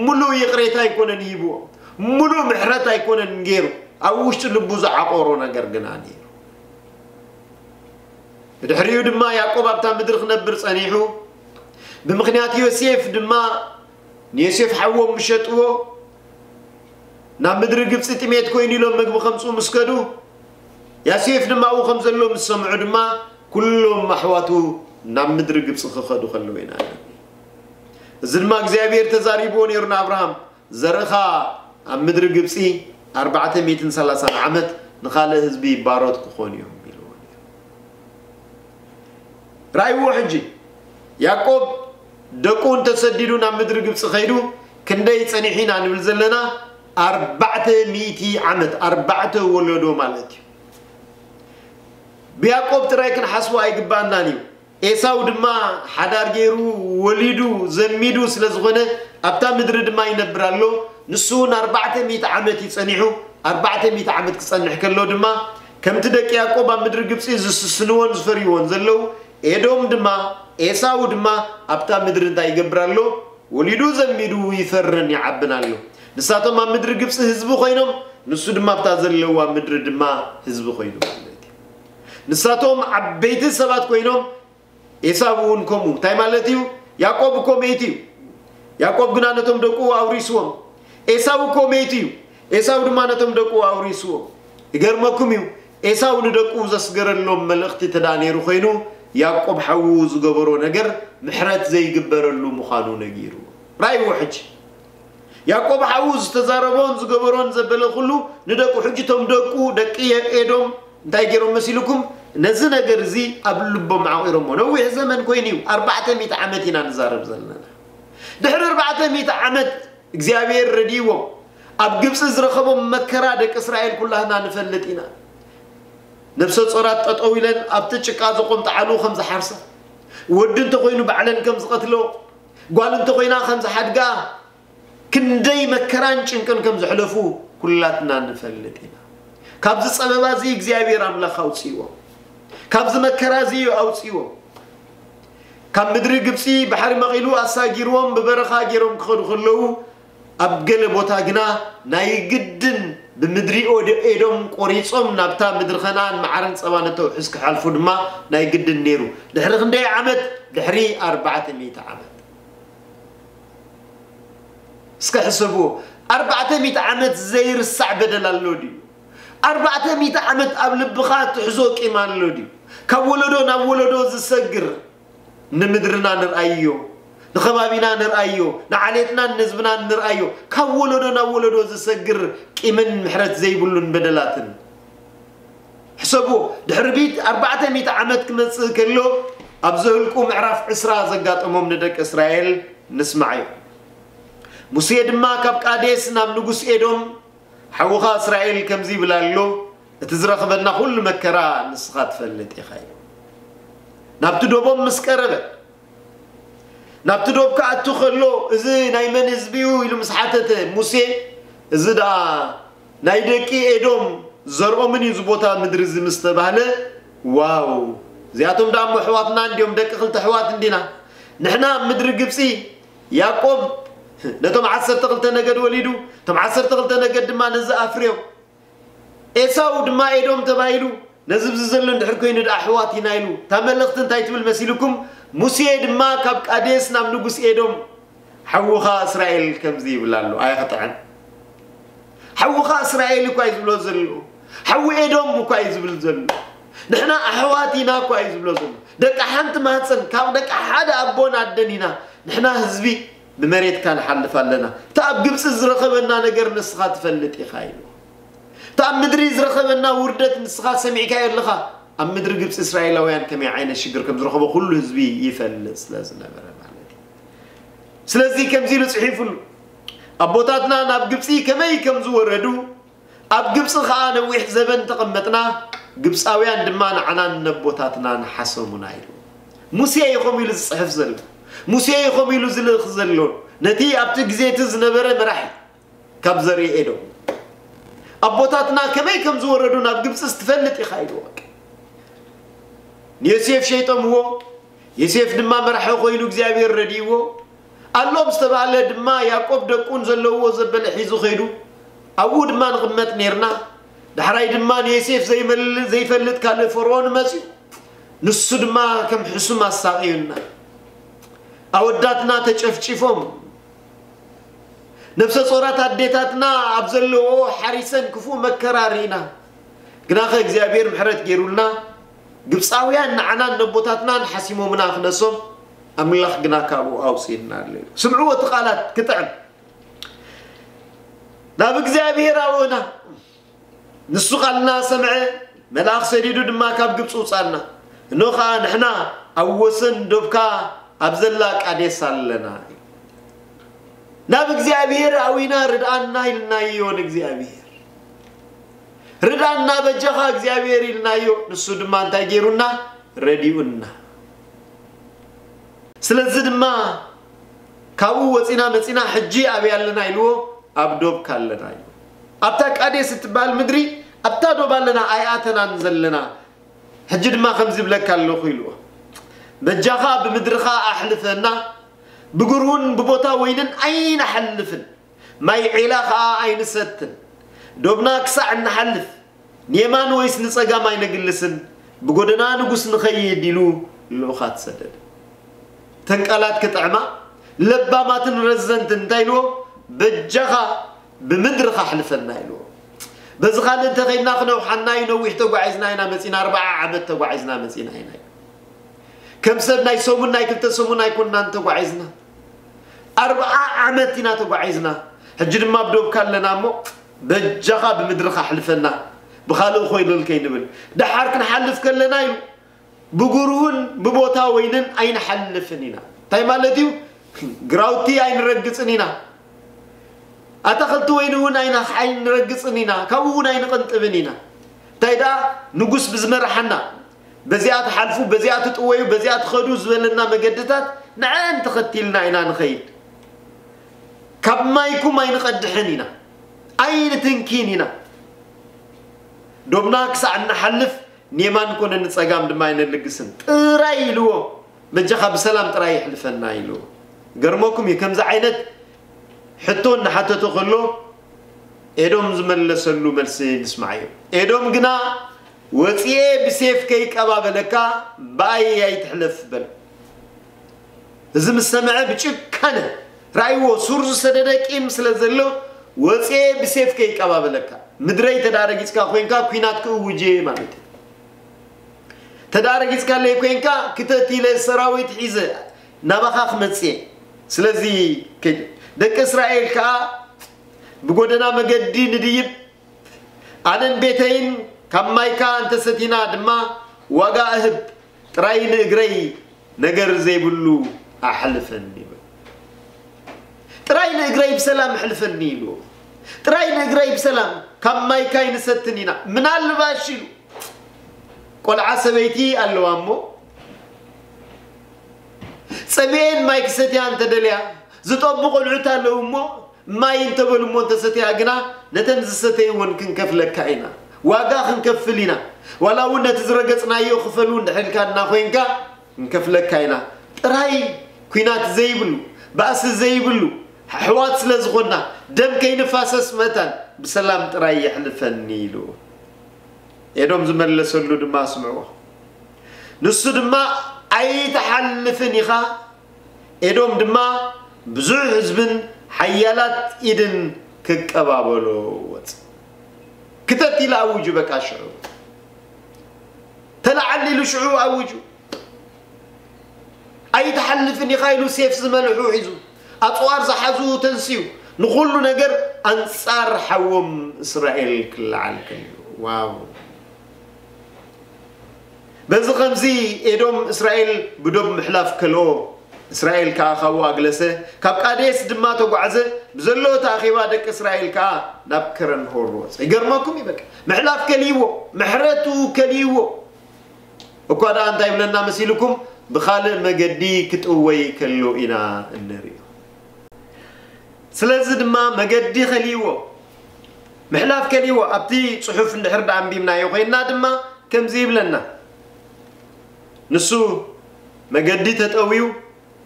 ምሉእ ይቕሬታ ኣይኮነን ሂብዎ፣ ምሉእ ምሕረት ኣይኮነን ገይሩ፣ ኣብ ውሽጢ ልቡ ዝዓቆሮ ነገር ግና ነይሩ። ብድሕሪኡ ድማ ያዕቆብ ኣብታ ምድሪ ክነብር ጸኒሑ፣ ብምኽንያት ዮሴፍ ድማ ንዮሴፍ ሓዎም ምሸጥዎ፣ ናብ ምድሪ ግብጺ ጥሜት ኮይኑ ኢሎም መግቢ ከምጽኡ ምስ ከዱ፣ ያሴፍ ድማ ኣብኡ ከም ዘሎ ምስ ሰምዑ ድማ፣ ኩሎም ኣሕዋቱ ናብ ምድሪ ግብጺ ክኸዱ ከለዉ ኢና ንርኢ። እዚ ድማ እግዚኣብሔር ተዛሪብዎ ነይሩ ንኣብርሃም፣ "ዘርእኻ ኣብ ምድሪ ግብጺ ኣርባዕተ ሚእትን ሰላሳን ዓመት ንኻልእ ህዝቢ ባሮት ክኾኑ እዮም" ኢልዎ ነይሩ። ራእይዎ ሕጂ፣ ያዕቆብ ደቁ እንተሰዲዱ ናብ ምድሪ ግብጺ ኸይዱ ክንደይ ጸኒሑ ኢና ንብል ዘለና? ኣርባዕተ ሚእቲ ዓመት፣ ኣርባዕተ ወለዶ ማለት እዩ። ብያዕቆብ ጥራይ ክንሓስቦ ኣይግባኣናን እዩ። ኤሳው ድማ ሓዳር ገይሩ፣ ወሊዱ፣ ዘሚዱ ስለ ዝኾነ፣ ኣብታ ምድሪ ድማ ይነብር ኣሎ። ንሱ እውን ኣርባዕተ ሚእቲ ዓመት እዩ ጸኒሑ። ኣርባዕተ ሚእቲ ዓመት ክጸንሕ ከሎ ድማ፣ ከምቲ ደቂ ያዕቆብ ኣብ ምድሪ ግብጺ ዝስስንዎን ዝፈርይዎን ዘለዉ፣ ኤዶም ድማ፣ ኤሳው ድማ ኣብታ ምድሪ እንታይ ይገብር ኣሎ? ወሊዱ ዘሚዱ ይፈርን ይዓብን ኣሎ። ንሳቶም ኣብ ምድሪ ግብጺ ህዝቢ ኮይኖም፣ ንሱ ድማ ኣብታ ዘለዋ ምድሪ ድማ ህዝቢ ኮይኑ ማለት እዩ። ንሳቶም ዓበይቲ ሰባት ኮይኖም፣ ኤሳው እውን ከምኡ። እንታይ ማለት እዩ? ያዕቆብ እኮ መይቱ እዩ። ያዕቆብ ግና ነቶም ደቁ ኣውሪስዎም። ኤሳው እኮ መይቱ እዩ። ኤሳው ድማ ነቶም ደቁ ኣውሪስዎም። ይገርመኩም እዩ፣ ኤሳው ንደቁ ዘስገረሎም መልእኽቲ ተዳ ነይሩ ኮይኑ፣ ያዕቆብ ሓዉ ዝገበሮ ነገር ምሕረት ዘይግበረሉ ምዃኑ ነጊሩ። ራእይዎ ሕጂ። ያዕቆብ ሓዉ ዝተዛረቦን ዝገበሮን ዘበለ ኩሉ ንደቁ፣ ሕጂ እቶም ደቁ፣ ደቂ ኤዶም እንታይ ገይሮም መሲልኩም? ነዚ ነገር እዚ ኣብ ልቦም ዓቒሮሞ። ነዊሕ ዘመን ኮይኑ እዩ፣ ኣርባዕተ ሚእቲ ዓመት ኢና ንዛረብ ዘለና። ድሕሪ ኣርባዕተ ሚእቲ ዓመት እግዚኣብሔር ረድይዎም፣ ኣብ ግብጺ ዝረኸቦም መከራ ደቂ እስራኤል ኩላህና ንፈልጥ ኢና። ነፍሰ ጾራት ጠጠው ኢለን ኣብቲ ጭቃ ዘቆምጠዓሉ ከም ዝሓርሳ፣ ወዲ እንተኾይኑ ባዕለን ከም ዝቐትሎ፣ ጓል እንተኾይና ከም ዝሓድጋ፣ ክንደይ መከራን ጭንቅን ከም ዘሕለፉ ኩላትና ንፈልጥ ኢና። ካብዚ ጸበባ እዚ እግዚኣብሔር ኣምላኽ ኣውጽእዎም። ካብዚ መከራ እዚ ኣውጽእዎም። ካብ ምድሪ ግብጺ ባሕሪ መቒሉ ኣሳጊርዎም ብበረኻ ገይሮም ክኸዱ ከለዉ፣ ኣብ ገለ ቦታ ግና ናይ ግድን ብምድሪ ኦደ-፣ ኤዶም ቆሪጾም ናብታ ምድሪ ከነኣን መዓርን ጸባን እተውሕዝ ክሓልፉ ድማ ናይ ግድን ነይሩ። ድሕሪ ክንደይ ዓመት? ድሕሪ ኣርባዕተ ሚእቲ ዓመት። እስከ ሕሰብዎ፣ ኣርባዕተ ሚእቲ ዓመት ዘይርሳዕ በደል ኣሎ ድዩ? ኣርባዕተ ሚእቲ ዓመት ኣብ ልብኻ ትሕዞ ቂም ኣሎ ድዩ? ካብ ወለዶ ናብ ወለዶ ዝሰግር፣ ንምድርና ንርኣዮ፣ ንኸባቢና ንርኣዮ፣ ንዓሌትናን ንህዝብናን ንርኣዮ፣ ካብ ወለዶ ናብ ወለዶ ዝሰግር ቂምን ምሕረት ዘይብሉን በደላትን። ሕሰብዎ፣ ድሕሪ ቢት ኣርባዕተ ሚእቲ ዓመት ክመጽእ ከሎ፣ ኣብ ዘኍልቁ ምዕራፍ ዕስራ ዘጋጠሞም ንደቂ እስራኤል ንስማዓዮ። ሙሴ ድማ ካብ ቃዴስ ናብ ንጉስ ኤዶም፣ ሓውኻ እስራኤል ከምዚ ይብል ኣሎ፣ እቲ ዝረኽበና ኩሉ መከራ ንስኻ ትፈልጥ ኢኻ ኢሉ። ናብቲ ዶቦም ምስ ቀረበ፣ ናብቲ ዶብ ክኣቱ ከሎ፣ እዚ ናይ መን ህዝቢ እዩ ኢሉ ምስ ሓተተ ሙሴ፣ እዚ ደኣ ናይ ደቂ ኤዶም ዘርኦምን እዩ እዚ ቦታ ምድሪ እዚ ምስ ተባህለ፣ ዋው፣ እዚኣቶም ደኣ እሞ ኣሕዋትና እንዲዮም፣ ደቂ ክልተ ኣሕዋት እንዲና። ንሕና ኣብ ምድሪ ግብጺ ያዕቆብ ነቶም ዓሰርተ ክልተ ነገድ ወሊዱ፣ እቶም ዓሰርተ ክልተ ነገድ ድማ ነዚ ኣፍርዮም። ኤሳው ድማ ኤዶም ተባሂሉ፣ ነዚ ብዚ ዘሎ እንድሕር ኮይኑ ደኣ ኣሕዋት ኢና ኢሉ። እታ መልእኽቲ እንታይ ትብል መሲልኩም? ሙሴ ድማ ካብ ቃዴስ ናብ ንጉስ ኤዶም፣ ሓውኻ እስራኤል ከምዚ ይብል ኣሎ፣ ኣይኽጥዕም። ሓውኻ እስራኤል እኳ እዩ ዝብሎ ዘሎ። ሓዊ ኤዶም እኳ እዩ ዝብል ዘሎ። ንሕና ኣሕዋት ኢና እኳ እዩ ዝብሎ ዘሎ። ደቂ ሓንቲ ማህፀን፣ ካብ ደቂ ሓደ ኣቦን ኣደን ኢና። ንሕና ህዝቢ ብመሬትካ ንሓልፍ ኣለና። እቲ ኣብ ግብፂ ዝረኸበና ነገር ንስኻ ትፈልጥ ኢኻ ኢሉ። እቲ ኣብ ምድሪ ዝረኸበና ውርደት ንስኻ ሰሚዕካዮ ኣለኻ። ኣብ ምድሪ ግብፂ እስራኤላውያን ከመይ ዓይነት ሽግር ከም ዝረኸቦ ኩሉ ህዝቢ ይፈልጥ ስለ ዝነበረ ማለት እዩ። ስለዚ ከምዚ ኢሉ ጽሒፉሉ፣ ኣቦታትና ናብ ግብጺ ከመይ ከም ዝወረዱ፣ ኣብ ግብጺ ኸኣ ነዊሕ ዘበን ተቐመጥና፣ ግብጻውያን ድማ ንዓናን ነቦታትናን ሓሰሙና ኢሉ። ሙሴ እዩ ከምኡ ኢሉ ዝጽሕፍ ዘሎ። ሙሴ እዩ ከምኡ ኢሉ ዝልእኽ ዘሎ። ነቲ ኣብቲ ግዜ እቲ ዝነበረ መራሒ ካብ ዘርኢ ኤዶም። ኣቦታትና ከመይ ከም ዝወረዱ ናብ ግብጺ ትፈልጥ ኢኻ ኢልዎ። ንዮሴፍ ሸይጦምዎ፣ ዮሴፍ ድማ መራሒ ኮይኑ እግዚኣብሔር ረድእዎ። ኣሎ ዝተባህለ ድማ ያዕቆብ ደቁን ዘለውዎ ዘበለ ሒዙ ከይዱ። ኣብኡ ድማ ንቕመጥ ኔርና። ዳሕራይ ድማ ንዮሴፍ ዘይመል-፣ ዘይፈልጥ ካልእ ፈርዖን መጽዩ። ንሱ ድማ ከም ሕሱም ኣሳቕዩና። ኣወዳትና ተጨፍጪፎም። ነፍሰ ጾራት ኣዴታትና ኣብ ዘለውኦ ሓሪሰን ክፉእ መከራ ርኢና። ግናኸ እግዚኣብሔር ምሕረት ገይሩልና፣ ግብጻውያን ንዓናን ነቦታትናን ሓሲሞምና ክነሶም፣ ኣምላኽ ግና ካብኡ ኣውጺእና ኣሎ ኢሉ። ስምዕዎ እቲ ቃላት ክጥዕም። ናብ እግዚኣብሔር ኣውዕና። ንሱ ቃልና ሰምዐ፣ መልኣኽ ሰዲዱ ድማ ካብ ግብጺ ውጻና። እኖ ኸኣ ንሕና ኣብ ወሰን ዶብካ ኣብ ዘላ ቃዴስ ኣለና። ናብ እግዚኣብሔር ኣዊና ርድኣና ኢልናዮ ንእግዚኣብሔር። ርድኣና በጃኻ እግዚኣብሔር ኢልናዮ። ንሱ ድማ እንታይ ገይሩና? ረዲኡና። ስለዚ ድማ ካብኡ ወጺና መጺና ሕጂ ኣበይ ኣለና ኢልዎ? ኣብ ዶብካ ኣለና ኢልዎ። ኣብታ ቃዴስ እትበሃል ምድሪ ኣብታ ዶብ ኣለና ኣይኣተናን ዘለና። ሕጂ ድማ ከምዚ ይብለካ ኣለኹ ኢልዎ። በጃኻ ብምድርኻ ኣሕልፈና፣ ብጉርሁን ብቦታ ወይንን ኣይንሓልፍን፣ ማይ ዒላ ኸኣ ኣይንሰትን። ዶብና ክሳዕ እንሓልፍ ንየማን ወይስ ንጸጋም ኣይነግልስን፣ ብጎደና ንጉስ ንኸይድ ኢሉ ልኡኻት ሰደደ። እተን ቃላት ክጥዕማ ለባማትን ረዘንትን እንታይ ኢልዎ? በጃኻ ብምድርኻ ኣሕልፈና ኢልዎ። በዚ ካልእ እንተኸይድና ክነውሓና እዩ፣ ነዊሕ ተጓዒዝና ኢና መጺና፣ ኣርብዓ ዓመት ተጓዒዝና መጺና ኢና። ከም ሰብ ናይ ሰሙን ናይ ክልተ ሰሙን ኣይኮንናን ተጓዒዝና። ኣርብዓ ዓመት ኢና ተጓዒዝና። ሕጂ ድማ ኣብ ዶብካ ኣለና እሞ በጃኻ ብምድርኻ ኣሕልፈና፣ ብኻልእ ኮይለል ከይንብል። ደሓር ክንሓልፍ ከለና ኢሉ ብጉርሁን ብቦታ ወይንን ኣይንሓልፍን ኢና። እንታይ ማለት እዩ? ግራውቲ ኣይንረግጽን ኢና። ኣታኽልቲ ወይኒ እውን ኣይና-፣ ኣይንረግጽን ኢና። ካብኡ እውን ኣይንቕንጥብን ኢና። እንታይ ደኣ ንጉስ ብዝመርሓና፣ በዚኣ ትሓልፉ፣ በዚኣ ትጥወዩ፣ በዚኣ ትኸዱ ዝበለና መገድታት ንዐን ተኸቲልና ኢና ንኸይድ። ካብ ማይኩም ኣይንቐድሕን ኢና። ኣይንትንኪን ኢና። ዶብና ክሳዕ እንሓልፍ ንየማን ኮነ ንጸጋም ድማ ኣይነልግስን ጥራይ ኢልዎ። በጃኻ ብሰላም ጥራይ የሕልፈና ኢልዎ። ገርመኩም እዩ፣ ከምዚ ዓይነት ሕቶ እናሓተተ ከሎ ኤዶም ዝመለሰሉ መልሲ ንስማዓዮ። ኤዶም ግና፣ "ወጺኤ ብሴፍ ከይቀባበለካ ብኣይ ኣይትሕለፍ" በለ። እዚ ምስ ሰምዐ ብጭካነ፣ ራእይዎ፣ ሱር ዝሰደደ ቂም ስለ ዘሎ፣ "ወጺኤ ብሴፍ ከይቀባበለካ፣ ምድረይ ተዳረጊጽካ ኮይንካ ኲናት ክእውጅ እየ" ማለት እዩ። ተዳረጊጽካለይ ኮይንካ ክተት ኢለ ሰራዊት ሒዘ ናባኻ ክመጽእ እየ። ስለዚ ከይድ። ደቂ እስራኤል ከኣ ብጎደና መገዲ ንድይብ፣ ኣነን ቤተይን ካብ ማይካ እንተሰቲና ድማ ዋጋ እህብ፣ ጥራይ ንእግረይ ነገር ዘይብሉ ኣሕልፈኒ ይብል። ጥራይ ንእግረይ ብሰላም ኣሕልፈኒ ኢሉ። ጥራይ ንእግረይ ብሰላም ካብ ማይካ ኣይንሰትን ኢና። ምናልባሽ ኢሉ ቆልዓ ሰበይቲ ኣለዋ እሞ ጸሚኤን ማይ ክሰትያ እንተደልያ ዝጠቡ ቆልዑት ኣለዉ እሞ ማይ እንተበሉ እሞ እንተሰትያ ግና ነተን ዝሰተይወን ክንከፍለካ ኢና። ዋጋ ክንከፍል ኢና። ዋላ እውን ነቲ ዝረገጽናዮ ክፈሉ እንድሕልካና ኮይንካ ክንከፍለካ ኢና። ጥራይ ኲናት ዘይብሉ፣ ባእሲ ዘይብሉ፣ ኣሕዋት ስለ ዝኾንና፣ ደም ከይንፋሰስ መታን ብሰላም ጥራይ የሕልፈኒ ኢሉ። ኤዶም ዝመለሰሉ ድማ ስምዕዎ። ንሱ ድማ ኣይትሓልፍን ኢኻ፣ ኤዶም ድማ ብዙሕ ህዝብን ሓያላት ኢድን ክቀባበሎ ወጽ ክተት ኢሉ ኣውጁ። በቃ ሽዑ ተለዓል ኢሉ ሽዑ ኣውጁ። ኣይትሓልፍን ኢኻ ኢሉ ሴፍ ዝመልሑ ሒዙ ኣጽዋር ዝሓዙ ተንስዩ ንኹሉ ነገር ኣንጻር ሓዎም እስራኤል ክለዓል ከሎ። ዋው! በዚ ኸምዚ ኤዶም እስራኤል ብዶብ ምሕላፍ ከልኦ፣ እስራኤል ከኣ ካብኡ ኣግለሰ፣ ካብ ቃዴስ ድማ ተጓዕዘ፣ ብዘሎ እቲ ኣኼባ ደቂ እስራኤል ከኣ ናብ ከረን ሆር ወጸ። ይገርመኩም እዩ በቃ። ምሕላፍ ከልይዎ፣ ምሕረቱ ከልይዎ። እኳ ደኣ እንታይ ይብለና መሲልኩም? ብኻልእ መገዲ ክጥወይ ከሎ ኢና እንርእዮ። ስለዚ ድማ መገዲ ከልይዎ፣ ምሕላፍ ከልይዎ፣ ኣብቲ ጽሑፍ እንድሕር ደኣ ኣንቢብናዮ ኮይንና ድማ ከምዚ ይብለና። ንሱ መገዲ ተጠውዩ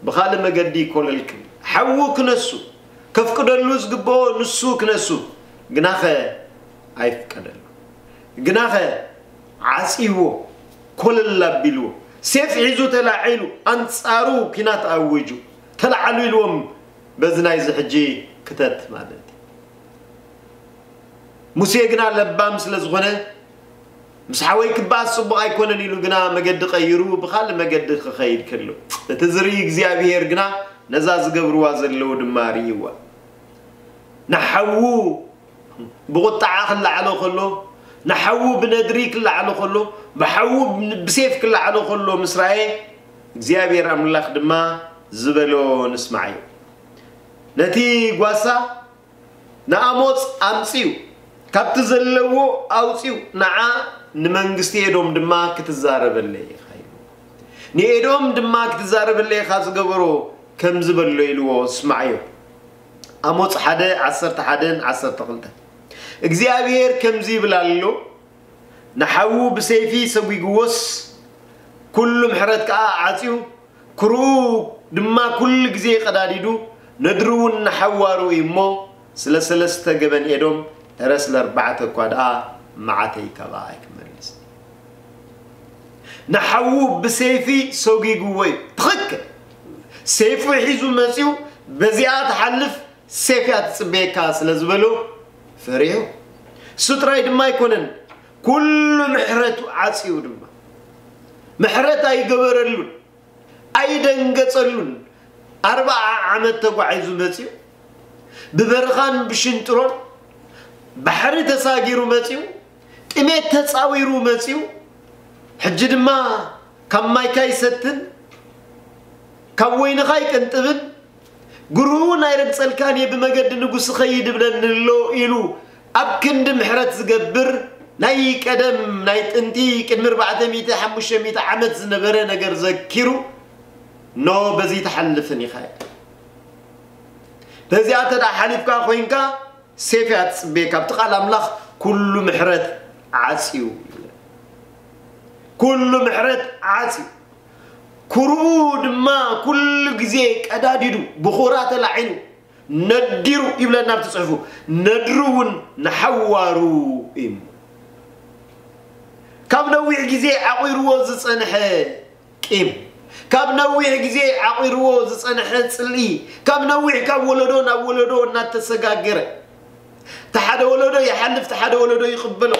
ብኻልእ መገዲ ይኮለል ክብል። ሓዉ ክነሱ፣ ከፍቅደሉ ዝግብኦ ንሱ ክነሱ፣ ግናኸ ኣይፍቀደሉ። ግናኸ ዓጽይዎ፣ ኮለል ኣቢልዎ፣ ሴፍ ሒዙ ተላዒሉ፣ ኣንጻሩ ኲናት ኣዊጁ፣ ተላዓሉ ኢልዎም በዚ ናይዚ ሕጂ ክተት ማለት እዩ። ሙሴ ግና ለባም ስለ ዝኾነ፣ ምስ ሓወይ ክበኣስ ጽቡቕ ኣይኮነን ኢሉ ግና መገዲ ቀይሩ ብኻልእ መገዲ ክኸይድ ከሎ፣ እቲ ዝርኢ እግዚኣብሄር ግና ነዛ ዝገብርዋ ዘለዉ ድማ ርእይዋ። ንሓዉ ብቑጥዓ ክለዓሎ ከሎ፣ ንሓዉ ብነድሪ ክለዓሎ ከሎ፣ ብሓዉ ብሴፍ ክለዓሎ ከሎ ምስ ረኣየ፣ እግዚኣብሔር ኣምላኽ ድማ ዝበሎ ንስማዓዮ። ነቲ ጓሳ ንኣሞጽ ኣምጺኡ፣ ካብቲ ዘለዎ ኣውጺኡ፣ ንዓ ንመንግስቲ ኤዶም ድማ ክትዛረበለይ ኢኻ ኢሉ። ንኤዶም ድማ ክትዛረበለይ ኢኻ ዝገበሮ ከምዚ በሎ ኢልዎ፣ ስማዓዮ። ኣሞጽ ሓደ፣ ዓሰርተ ሓደን ዓሰርተ ክልተን። እግዚኣብሔር ከምዚ ይብል ኣሎ፣ ንሓዉ ብሰይፊ ሰጒግዎስ፣ ኩሉ ምሕረት ከኣ ዓጽዩ፣ ክርኡ ድማ ኩሉ ግዜ ቀዳዲዱ፣ ነድሩ እውን ንሓዋሩ እዩ እሞ፣ ስለ ሰለስተ ገበን ኤዶም፣ እረ ስለ ኣርባዕተ እኳ ደኣ መዓተይ ካባኣ ኣይክመልስ። ንሓዉ ብሰይፊ ሰጒግዎ እዩ። ትኽክል። ሰይፉ ሒዙ መጺኡ፣ በዚኣ ትሓልፍ ሴፍ እያ ትጽበየካ ስለ ዝበሎ ፈሪሑ። እሱ ጥራይ ድማ ኣይኮነን፣ ኩሉ ምሕረቱ ዓጽዩ ድማ። ምሕረት ኣይገበረሉን፣ ኣይደንገጸሉን። ኣርብዓ ዓመት ተጓዒዙ መጺኡ፣ ብበረኻን ብሽንጥሮን ባሕሪ ተሳጊሩ መጺኡ፣ ጥሜት ተጻዊሩ መጺኡ፣ ሕጂ ድማ ካብ ማይካ ይሰትን፣ ካብ ወይንኻ ይቅንጥብን፣ ግሩውን ኣይረግጸልካን እየ፣ ብመገዲ ንጉስ እኸይድ እብለኒ ኣሎ ኢሉ ኣብ ክንዲ ምሕረት ዝገብር ናይ ቀደም ናይ ጥንቲ ቅድሚ ኣርባዕተ ሚእቲ ሓሙሽተ ሚእቲ ዓመት ዝነበረ ነገር ዘኪሩ፣ ኖ በዚ ትሓልፍን ኢኻ። በዚኣ እንተ ደኣ ሓሊፍካ ኮይንካ፣ ሴፍ እያ ትጽበየካ። ኣብቲ ቃል ኣምላኽ ኩሉ ምሕረት ዓጽዩ ይብለና። ኩሉ ምሕረት ዓጽዩ። ኩርኡ ድማ ኩሉ ግዜ ቀዳዲዱ፣ ብኹራ ተላዒሉ፣ ነዲሩ ይብለና ኣብቲ ጽሑፉ። ነድሩ እውን ንሓዋሩ እዩ። ካብ ነዊሕ ግዜ ዓቑርዎ ዝጸንሐ ቂም፣ ካብ ነዊሕ ግዜ ዓቑርዎ ዝጸንሐ ጽልኢ፣ ካብ ነዊሕ ካብ ወለዶ ናብ ወለዶ እናተሰጋገረ፣ እቲ ሓደ ወለዶ ይሓልፍ፣ እቲ ሓደ ወለዶ ይቕበሎ፣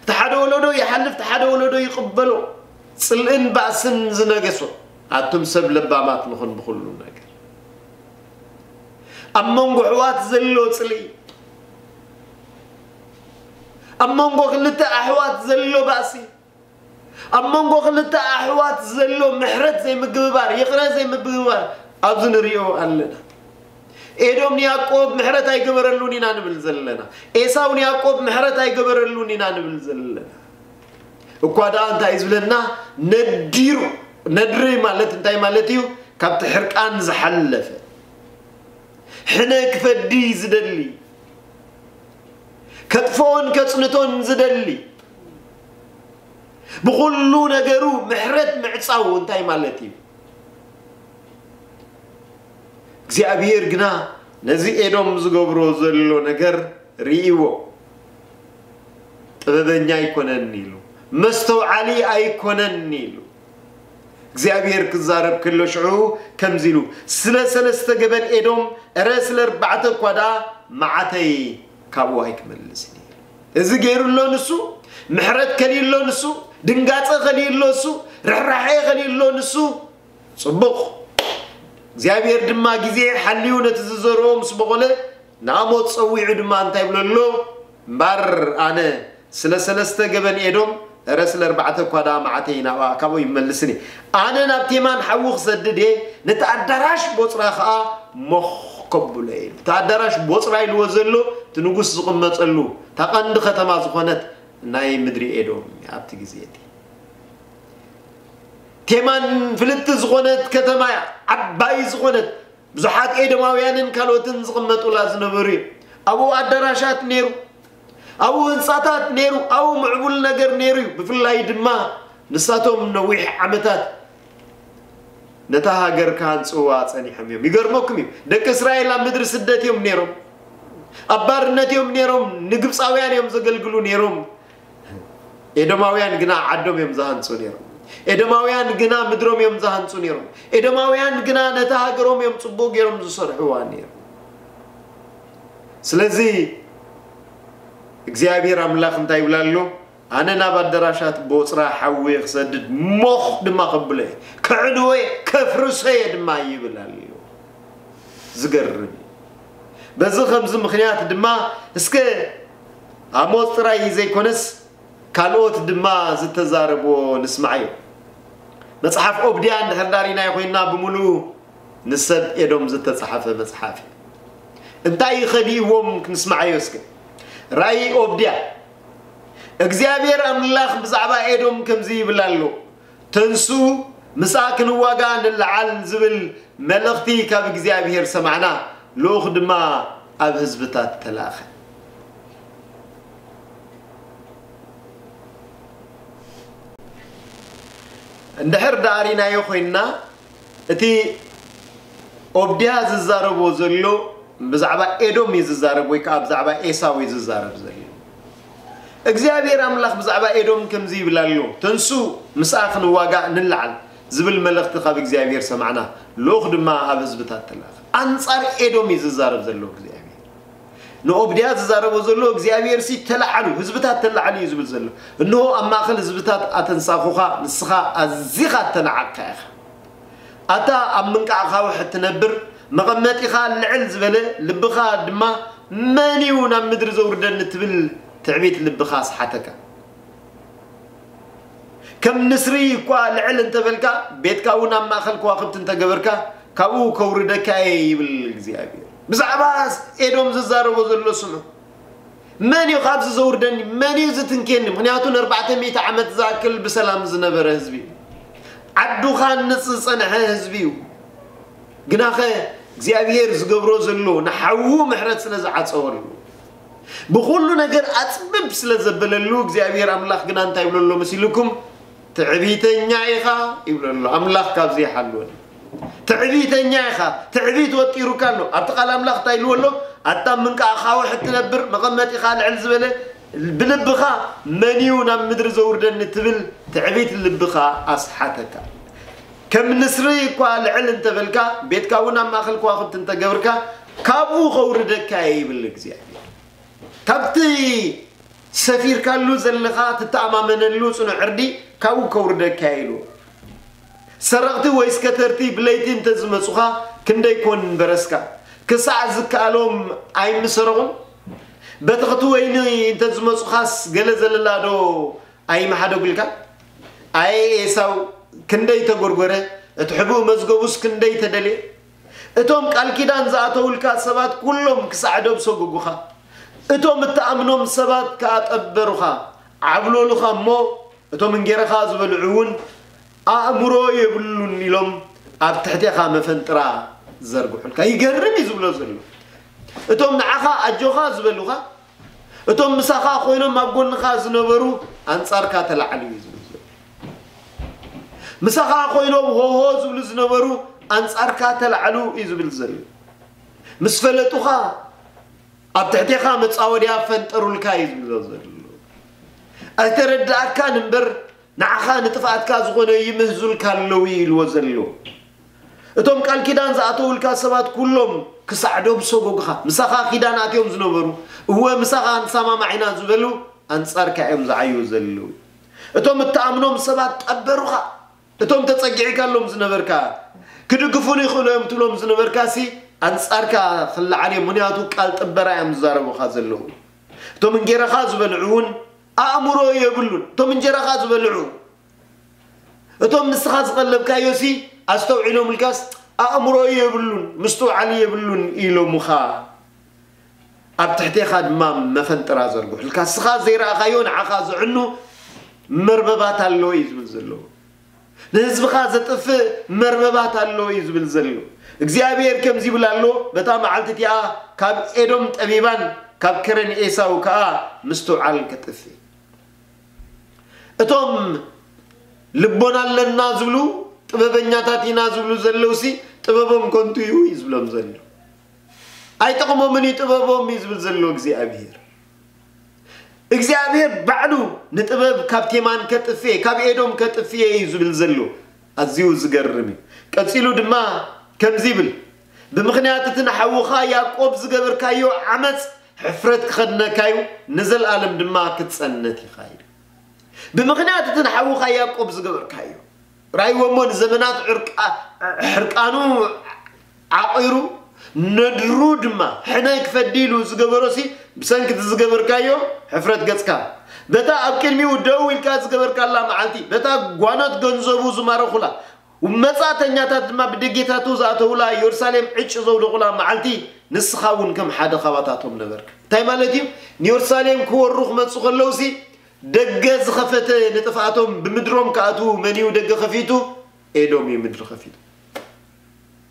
እቲ ሓደ ወለዶ ይሓልፍ፣ እቲ ሓደ ወለዶ ይቕበሎ፣ ጽልእን ባእስን ዝነገሶ። ኣቱም ሰብ ለባማት ንኹን ብኹሉ ነገር። ኣብ መንጎ ኣሕዋት ዘሎ ጽልኢ፣ ኣብ መንጎ ክልተ ኣሕዋት ዘሎ ባእሲ፣ ኣብ መንጎ ክልተ ኣሕዋት ዘሎ ምሕረት ዘይምግብባር፣ ይቕረ ዘይምግብባር ኣብዚ ንሪኦ ኣለና። ኤዶም ንያዕቆብ ምሕረት ኣይገበረሉን ኢና ንብል ዘለና። ኤሳው ንያዕቆብ ምሕረት ኣይገበረሉን ኢና ንብል ዘለና። እኳ ደኣ እንታይ እዩ ዝብለና? ነዲሩ። ነድሪ ማለት እንታይ ማለት እዩ? ካብቲ ሕርቃን ዝሓለፈ፣ ሕነ ክፈዲ ዝደሊ፣ ከጥፍኦን ከጽንቶን ዝደሊ፣ ብኹሉ ነገሩ ምሕረት ምዕጻው እንታይ ማለት እዩ? እግዚኣብሔር ግና ነዚ ኤዶም ዝገብሮ ዘሎ ነገር ርእይዎ። ጥበበኛ ኣይኮነን ኢሉ፣ መስተውዓሊ ኣይኮነን ኢሉ። እግዚኣብሔር ክዛረብ ከሎ ሽዑ ከምዚ ኢሉ፣ ስለ ሰለስተ ገበን ኤዶም፣ እረ ስለ ኣርባዕተ እኳ ደኣ መዓተይ ካብኡ ኣይክመልስን እዩ። እዚ ገይሩ ኣሎ ንሱ፣ ምሕረት ከልዩ ኣሎ ንሱ፣ ድንጋጸ ከልዩ ኣሎ ንሱ፣ ርሕራሐ ከልዩ ኣሎ ንሱ። ጽቡቕ። እግዚኣብሔር ድማ ግዜ ሓልዩ ነቲ ዝዘርኦ ምስ በቖለ ንኣሞጽ ጸዊዑ ድማ እንታይ ይብሎ ኣሎ? እምባር ኣነ ስለ ሰለስተ ገበን ኤዶም፣ እረ ስለ ኣርባዕተ እኳ ደኣ መዓተይ ናብኣ ካብኡ ይመልስን እየ። ኣነ ናብ ቴማን ሓዊ ክሰድድ እየ፣ ነቲ ኣዳራሽ ቦጽራ ኸኣ ሞኽ ከብሎ እየ። እቲ ኣዳራሽ ቦጽራ ኢልዎ ዘሎ እቲ ንጉስ ዝቕመጠሉ እታ ቀንዲ ከተማ ዝኾነት ናይ ምድሪ ኤዶም እያ ኣብቲ ግዜ እቲ። ቴማን ፍልጥቲ ዝኾነት ከተማ እያ፣ ዓባይ ዝኾነት ብዙሓት ኤዶማውያንን ካልኦትን ዝቕመጡላ ዝነበሩ እዩ። ኣብኡ ኣዳራሻት ነይሩ፣ ኣብኡ ህንጻታት ነይሩ፣ ኣብኡ ምዕቡል ነገር ነይሩ እዩ። ብፍላይ ድማ ንሳቶም ነዊሕ ዓመታት ነታ ሃገር ክሃንጽዋ ጸኒሖም እዮም። ይገርመኩም እዩ፣ ደቂ እስራኤል ኣብ ምድሪ ስደት እዮም ነይሮም፣ ኣብ ባርነት እዮም ነይሮም፣ ንግብጻውያን እዮም ዘገልግሉ ነይሮም። ኤዶማውያን ግና ዓዶም እዮም ዝሃንጹ ነይሮም። ኤዶማውያን ግና ምድሮም እዮም ዝሃንጹ ነይሮም። ኤዶማውያን ግና ነታ ሃገሮም እዮም ጽቡቕ ገይሮም ዝሰርሕዋ ነይሮም። ስለዚ እግዚኣብሔር ኣምላኽ እንታይ ይብል ኣሎ? ኣነ ናብ ኣዳራሻት ቦጽራ ሓዊ ክሰድድ፣ ሞኽ ድማ ከብሎ እየ፣ ከዕንዎ እየ፣ ከፍርሶ እየ ድማ ይብል ኣሎ። ዝገርም እዩ። በዚ ኸምዚ ምኽንያት ድማ እስከ ኣሞጽ ጥራይ ዘይኮነስ ካልኦት ድማ ዝተዛረብዎ ንስማዓዮ። መጽሓፍ ኦብድያ እንድሕር ዳሪናዮ ኮይንና ብምሉኡ ንሰብ ኤዶም ዝተጻሕፈ መጽሓፍ እዩ። እንታይ እዩ ኸሊእዎም ክንስማዓዮ እስከ። ራእይ ኦብድያ። እግዚኣብሔር ኣምላኽ ብዛዕባ ኤዶም ከምዚ ይብል ኣሎ። ተንሱ ምስኣ ክንዋጋእ ንለዓል ዝብል መልእኽቲ ካብ እግዚኣብሔር ሰማዕና። ልኡኽ ድማ ኣብ ህዝብታት ተላእኸ። እንድሕር ደኣ ሪናዮ ኮይንና፣ እቲ ኦብድያ ዝዛረቦ ዘሎ ብዛዕባ ኤዶም እዩ ዝዛረብ፣ ወይ ከዓ ብዛዕባ ኤሳው እዩ ዝዛረብ ዘሎ። እግዚኣብሔር ኣምላኽ ብዛዕባ ኤዶም ከምዚ ይብል ኣሎ፣ ተንሱ ምስኣ ክንዋጋእ ንለዓል ዝብል መልእኽቲ ካብ እግዚኣብሔር ሰማዕና፣ ልኡኽ ድማ ኣብ ህዝብታት ተላእኸ። ኣንጻር ኤዶም እዩ ዝዛረብ ዘሎ እግዚኣብሔር። ንኦብድያ ዝዛረቦ ዘሎ እግዚኣብሔር ሲ ተለዓሉ፣ ህዝብታት ተለዓሉ እዩ ዝብል ዘሎ። እንሆ ኣብ ማእከል ህዝብታት ኣተንሳኹኻ፣ ንስኻ ኣዚኻ እተናዓቕካ ኢኻ። ኣታ ኣብ ምንቃቕ ኣኻውሕ እትነብር፣ መቐመጢኻ ልዕል ዝበለ፣ ልብኻ ድማ መን እዩ ናብ ምድሪ ዘውርደኒ ትብል ትዕቢት ልብኻ ኣስሓተካ። ከም ንስሪ እኳ ልዕል እንተበልካ፣ ቤትካ እውን ኣብ ማእከል ከዋኽብቲ እንተገበርካ፣ ካብኡ ከውርደካ እየ ይብል እግዚኣብሔር። ብዛዕባ ኤዶም ዝዛረቦ ዘሎ ስምዑ። መን እዩ ካብዚ ዘውርደኒ? መን እዩ ዝትንክየኒ? ምኽንያቱ ንኣርባዕተ ሚእቲ ዓመት ዝኣክል ብሰላም ዝነበረ ህዝቢ እዩ። ዓዱ ክሃንጽ ዝጸንሐ ህዝቢ እዩ። ግናኸ እግዚኣብሔር ዝገብሮ ዘሎ ንሓዉ ምሕረት ስለ ዝዓጸወሉ፣ ብኹሉ ነገር ኣጽብብ ስለ ዘበለሉ፣ እግዚኣብሔር ኣምላኽ ግና እንታይ ይብሎ ኣሎ መሲልኩም? ትዕቢተኛ ኢኻ ይብሎ ኣሎ። ኣምላኽ ካብዚ ይሓልወን። ትዕቢተኛ ኢኻ፣ ትዕቢት ወጢሩካ ኣሎ። ኣብቲ ቃል ኣምላኽ እንታይ ኢልዎ ኣሎ? ኣታ ምንቃቕ ኣኻውሕ እትነብር፣ መቐመጢኻ ልዕል ዝበለ፣ ብልብኻ መን እዩ ናብ ምድሪ ዘውርደኒ ትብል ትዕቢት ልብኻ ኣስሓተካ። ከም ንስሪ እኳ ልዕል እንተበልካ፣ ቤትካ እውን ኣብ ማእከል ከዋኽብቲ እንተገብርካ፣ ካብኡ ከውርደካ እየ ይብል እግዚኣብሔር። ካብቲ ሰፊርካሉ ዘለኻ ትተኣማመነሉ ጽኑዕ ዕርዲ ካብኡ ከውርደካ እየ ኢሉ። ሰረቕቲ ወይስ ከተርቲ ብለይቲ እንተ ዝመጹኻ ክንደይ ኮን በረስካ? ክሳዕ ዝከኣሎም ኣይምሰረቑን? በተኽቲ ወይኒ እንተ ዝመጹኻስ ገለ ዘለላ ዶ ኣይምሓደጉልካን? ኣየ ኤሳው ክንደይ ተጎርጎረ፣ እቲ ሕቡእ መዝገቡስ ክንደይ ተደልየ። እቶም ቃል ኪዳን ዝኣተውልካ ሰባት ኩሎም ክሳዕ ዶብ ሰጎጉኻ። እቶም እትኣምኖም ሰባት ከኣ ጠበሩኻ፣ ዓብለሉኻ እሞ፣ እቶም እንጌራኻ ዝበልዑ እውን ኣእምሮ የብሉን ኢሎም ኣብ ትሕቴኻ መፈንጥራ ዘርግሑልካ። ይገርም እዩ ዝብሎ ዘሎ። እቶም ንዓኻ ኣጆኻ ዝበሉኻ፣ እቶም ምሳኻ ኮይኖም ኣብ ጎንኻ ዝነበሩ ኣንጻርካ ተላዕሉ እዩ ዝብል ዘሎ። ምሳኻ ኮይኖም ሆሆ ዝብሉ ዝነበሩ ኣንጻርካ ተላዕሉ እዩ ዝብል ዘሎ። ምስ ፈለጡኻ ኣብ ትሕቴኻ መጻወድያ ፈንጠሩልካ እዩ ዝብሎ ዘሎ። ኣይተረድኣካን እምበር ንዓኻ ንጥፍኣትካ ዝኾነ ይምህዙልካ ኣለዉ እዩ ኢልዎ ዘሎ። እቶም ቃል ኪዳን ዝኣተውልካ ሰባት ኩሎም ክሳዕ ዶብ ሰጎግኻ፣ ምሳኻ ኪዳን ኣትዮም ዝነበሩ፣ እወ ምሳኻ ንሰማማዕ ኢና ዝበሉ ኣንጻርካ እዮም ዝዓዩ ዘለዉ። እቶም እትኣምኖም ሰባት ጠበሩኻ። እቶም ተጸጊዕካሎም ዝነበርካ፣ ክድግፉን ይኽእሉ እዮም ትብሎም ዝነበርካ ሲ ኣንጻርካ ክለዓል እዮም። ምኽንያቱ ቃል ጥበራ እዮም ዝዛረቡኻ ዘለዉ። እቶም እንጌራኻ ዝበልዑ እውን ኣእምሮ የብሉን። እቶም እንጀራኻ ዝበልዑ፣ እቶም ንስኻ ዝቐለብካዮ ሲ ኣስተውዒሎምልካስ ኣእምሮ የብሉን፣ ምስትውዓል የብሉን ኢሎምኻ። ኣብ ትሕቴኻ ድማ መፈንጥራ ዘርግሑልካ። ንስኻ ዘይረኣኻዮ ንዓኻ ዘዕኑ መርበባት ኣሎ እዩ ዝብል ዘሎ። ንህዝብኻ ዘጥፍእ መርበባት ኣሎ እዩ ዝብል ዘሎ። እግዚኣብሔር ከምዚ ይብል ኣሎ፣ በታ መዓልቲ እቲኣ ካብ ኤዶም ጠቢባን ካብ ከረን ኤሳው ከኣ ምስትውዓል ከጥፍእ። እቶም ልቦና ኣለና ዝብሉ፣ ጥበበኛታት ኢና ዝብሉ ዘለውሲ ጥበቦም ከንቱ እዩ እዩ ዝብሎም ዘሎ። ኣይጠቕሞምን እዩ ጥበቦም እዩ ዝብል ዘሎ እግዚኣብሔር። እግዚኣብሔር ባዕሉ ንጥበብ ካብ ቴማን ከጥፍኤ፣ ካብ ኤዶም ከጥፍኤ እዩ ዝብል ዘሎ። ኣዝዩ ዝገርም እዩ። ቀጺሉ ድማ ከምዚ ይብል፣ "ብምኽንያት እቲ ንሓውኻ ያዕቆብ ዝገበርካዮ ዓመጽ ሕፍረት ክኸድነካ እዩ፣ ንዘለኣለም ድማ ክትጸነት ኢኻ" ኢሉ። ብምኽንያት እቲ ንሓውኻ ያዕቆብ ዝገበርካዮ፣ ራእይዎ እሞ ንዘመናት ዕርቃ-፣ ሕርቃኑ ዓቒሩ፣ ነድሩ ድማ ሕነ ክፈዲ ኢሉ ዝገበሮሲ፣ ብሰንኪ እቲ ዝገበርካዮ ሕፍረት ገጽካ፣ በታ ኣብ ቅድሚኡ ደው ኢልካ ዝገበርካላ መዓልቲ፣ በታ ጓኖት ገንዘቡ ዝማረኹላ፣ መጻእተኛታት ድማ ብደጌታቱ ዝኣተውላ፣ ኢየሩሳሌም ዕጭ ዘውደቑላ መዓልቲ፣ ንስኻ እውን ከም ሓደ ካባታቶም ነበርካ። እንታይ ማለት እዩ? ንኢየሩሳሌም ክወሩ ክመጹ ከለውሲ፣ ደገ ዝኸፈተ ንጥፍኣቶም ብምድሮም ክኣትዉ መን እዩ ደገ ከፊቱ? ኤዶም እዩ ምድሪ ከፊቱ።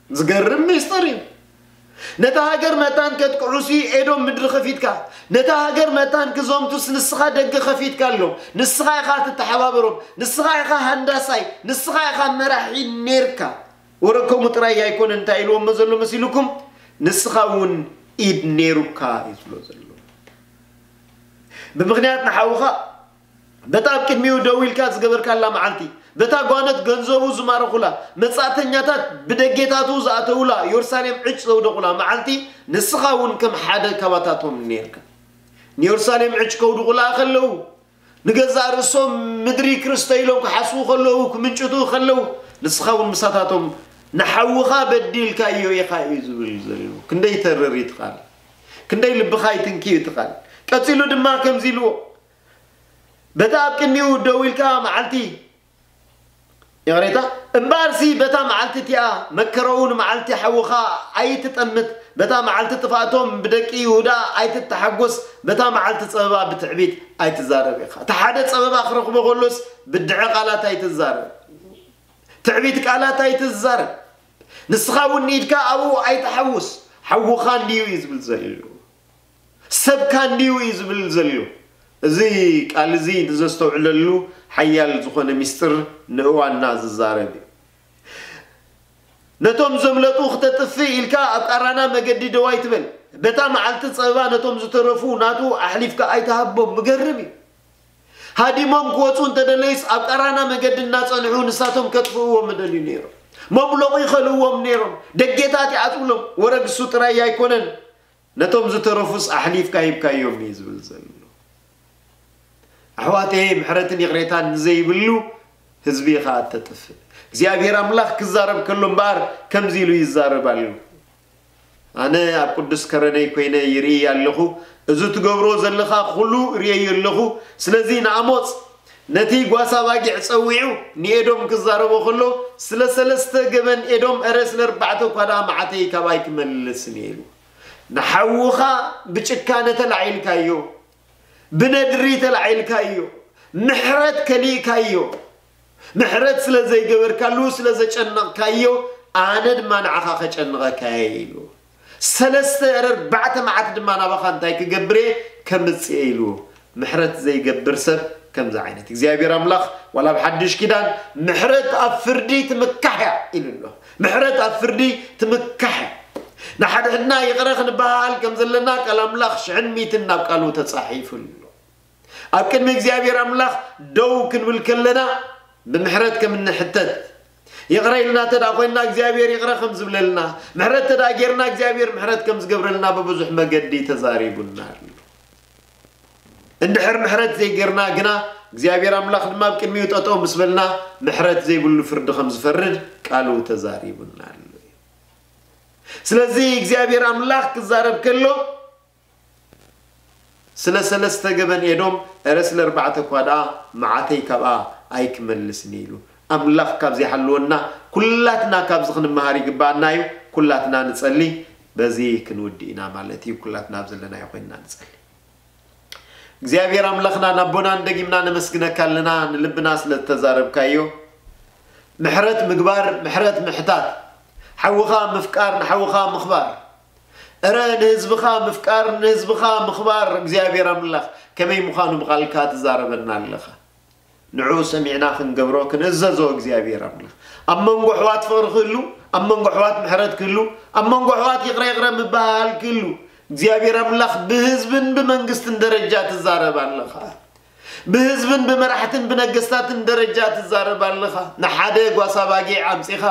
ዝገርም ሚስጥር እዩ። ነታ ሃገር መታን ከጥቅዑሲ ኤዶም ምድሪ ከፊትካ፣ ነታ ሃገር መታን ክዘምቱስ ንስኻ ደገ ከፊትካ ኣሎ። ንስኻ ኢኻ ትተሓባበሮም፣ ንስኻ ኢኻ ሃንዳሳይ፣ ንስኻ ኢኻ መራሒ ኔርካ። ወረ ከምኡ ጥራይ ኣይኮነን እንታይ ኢልዎሞ ዘሎ መሲልኩም? ንስኻ እውን ኢድ ኔሩካ እዩ ዝብሎ ዘሎ። ብምኽንያት ንሓውኻ በታ ኣብ ቅድሚኡ ደው ኢልካ ዝገበርካላ መዓልቲ፣ በታ ጓነት ገንዘቡ ዝማረኹላ፣ መጻእተኛታት ብደጌታቱ ዝኣተውላ፣ ኢየሩሳሌም ዕጭ ዘውደቑላ መዓልቲ፣ ንስኻ እውን ከም ሓደ ካባታቶም ኔርካ። ንኢየሩሳሌም ዕጭ ከውድቑላ ከለዉ፣ ንገዛእ ርእሶም ምድሪ ክርስተ ኢሎም ክሓስቡ ከለዉ፣ ክምንጭቱ ከለዉ፣ ንስኻ እውን ምሳታቶም ንሓውኻ በዲልካዮ ኢኻ እዩ ዝብል ዘሎ። ክንደይ ተርር እዩ እቲ ቃል። ክንደይ ልብኻ ይትንኪ እዩ እቲ ቃል። ቀጺሉ ድማ ከምዚ ኢልዎ፣ በታ ኣብ ቅድሚኡ ደው ኢልካ መዓልቲ፣ ይቕሬታ፣ እምበኣርሲ በታ መዓልቲ እቲኣ መከረኡ ንመዓልቲ ሓውኻ ኣይትጠምት፣ በታ መዓልቲ ጥፍኣቶም ብደቂ ይሁዳ ኣይትተሓጎስ፣ በታ መዓልቲ ጸበባ ብትዕቢት ኣይትዛረብ ኢኻ። እቲ ሓደ ጸበባ ክረኽቦ ከሎስ ብድዐ ቃላት ኣይትዛረብ፣ ትዕቢት ቃላት ኣይትዛረብ። ንስኻ እውን ኢድካ ኣብኡ ኣይትሓውስ፣ ሓውኻ እንድዩ እዩ ዝብል ዘሎ። ሰብካ እንድዩ እዩ ዝብል ዘሎ። እዚ ቃል እዚ ንዘስተውዕለሉ ሓያል ዝኾነ ሚስጥር ንእዋንና ዝዛረብ እዩ። ነቶም ዘምለጡ ክተጥፍእ ኢልካ ኣብ ቃራና መገዲ ደው ኣይትበል። በታ መዓልቲ ጸበባ ነቶም ዝተረፉ ናቱ ኣሕሊፍካ ኣይትሃቦም። ምገርም እዩ። ሃዲሞም ክወጹ እንተደለዩስ ኣብ ቃራና መገዲ እናጸንሑ ንሳቶም ከጥፍእዎም ምደልዩ ነይሮም። መብለቑ ይኸልእዎም ነይሮም። ደጌታት ይዓጽውሎም። ወረ ግሱ ጥራይ ኣይኮነን። ነቶም ዝተረፉስ ኣሕሊፍካ ሂብካዮም እዩ ዝብል ዘሎ። ኣሕዋተየ፣ ምሕረትን ይቕሬታን ንዘይብሉ ህዝቢ ኢኻ እተጥፍእ። እግዚኣብሔር ኣምላኽ ክዛረብ ከሎ እምበኣር ከምዚ ኢሉ ይዛረብ ኣሎ። ኣነ ኣብ ቅዱስ ከረነይ ኮይነ ይርኢ ኣለኹ። እዚ ትገብሮ ዘለኻ ኩሉ ርእየዮ ኣለኹ። ስለዚ ንኣሞጽ ነቲ ጓሳ ባጊዕ ጸዊዑ ንኤዶም ክዛረቦ ከሎ፣ ስለ ሰለስተ ገበን ኤዶም፣ እረ ስለ ኣርባዕተ እኳ ደኣ መዓተይ ካባይ ክመልስን እየ ኢሉ። ንሓውኻ ብጭካነ ተላዒልካዮ፣ ብነድሪ ተላዒልካዮ፣ ምሕረት ከሊእካዮ፣ ምሕረት ስለ ዘይገበርካሉ፣ ስለ ዘጨነቕካዮ፣ ኣነ ድማ ንዓኻ ከጨንቐካ እየ ኢሉ። ሰለስተ እረ ኣርባዕተ መዓት ድማ ናባኻ እንታይ ክገብር እየ? ከምጽእ እየ ኢሉ። ምሕረት ዘይገብር ሰብ ከምዚ ዓይነት እግዚኣብሔር ኣምላኽ ዋላ ኣብ ሓድሽ ኪዳን ምሕረት ኣብ ፍርዲ ትምካሕ እያ ኢሉ ኣሎ። ምሕረት ኣብ ፍርዲ ትምካሕ እያ። ንሓድሕድና ይቕረ ክንበሃል ከም ዘለና ቃል ኣምላኽ ሽሕን ሚትን ናብ ቃሉ ተጻሒፉ ኣሎ። ኣብ ቅድሚ እግዚኣብሔር ኣምላኽ ደው ክንብል ከለና ብምሕረት ከም እንሕተት፣ ይቕረ ኢልና እንተ ደኣ ኮይንና እግዚኣብሔር ይቕረ ከም ዝብለልና፣ ምሕረት እንተ ደኣ ጌርና እግዚኣብሔር ምሕረት ከም ዝገብረልና ብብዙሕ መገዲ ተዛሪቡና ኣሎ። እንድሕር ምሕረት ዘይጌርና ግና እግዚኣብሔር ኣምላኽ ድማ ኣብ ቅድሚኡ ጠጠው ምስ በልና ምሕረት ዘይብሉ ፍርዲ ከም ዝፈርድ ቃሉ ተዛሪቡና ኣሎ። ስለዚ እግዚኣብሔር ኣምላኽ ክዛረብ ከሎ ስለ ሰለስተ ገበን ኤዶም፣ እረ ስለ ኣርባዕተ እኳ ደኣ መዓተይ ካብኣ ኣይክመልስን ኢሉ። ኣምላኽ ካብ ዘይሓልወና ኩላትና ካብዚ ክንመሃር ይግባኣና እዩ። ኩላትና ንጸሊ፣ በዚ ክንውድእ ኢና ማለት እዩ። ኩላትና ኣብ ዘለናዮ ኮይንና ንጸሊ። እግዚኣብሔር ኣምላኽና ናቦናን ደጊምና ነመስግነካ ኣለና፣ ንልብና ስለ ዝተዛረብካዮ። ምሕረት ምግባር፣ ምሕረት ምሕታት፣ ሓውኻ ምፍቃር፣ ንሓውኻ ምኽባር፣ እረ ንህዝብኻ ምፍቃር፣ ንህዝብኻ ምኽባር እግዚኣብሔር ኣምላኽ ከመይ ምዃኑ ብቓልካ ትዛረበና ኣለኻ። ንዕኡ ሰሚዕና ክንገብሮ ክንእዘዞ እግዚኣብሔር ኣምላኽ። ኣብ መንጎ ኣሕዋት ፍቕሪ ክህሉ፣ ኣብ መንጎ ኣሕዋት ምሕረት ክህሉ፣ ኣብ መንጎ ኣሕዋት ይቕረ ይቕረ ምበሃል ክህሉ እግዚኣብሔር ኣምላኽ ብህዝብን ብመንግስትን ደረጃ ትዛረብ ኣለኻ። ብህዝብን ብመራሕትን ብነገስታትን ደረጃ ትዛረብ ኣለኻ። ንሓደ ጓሳ ባጊዕ ኣምጺኻ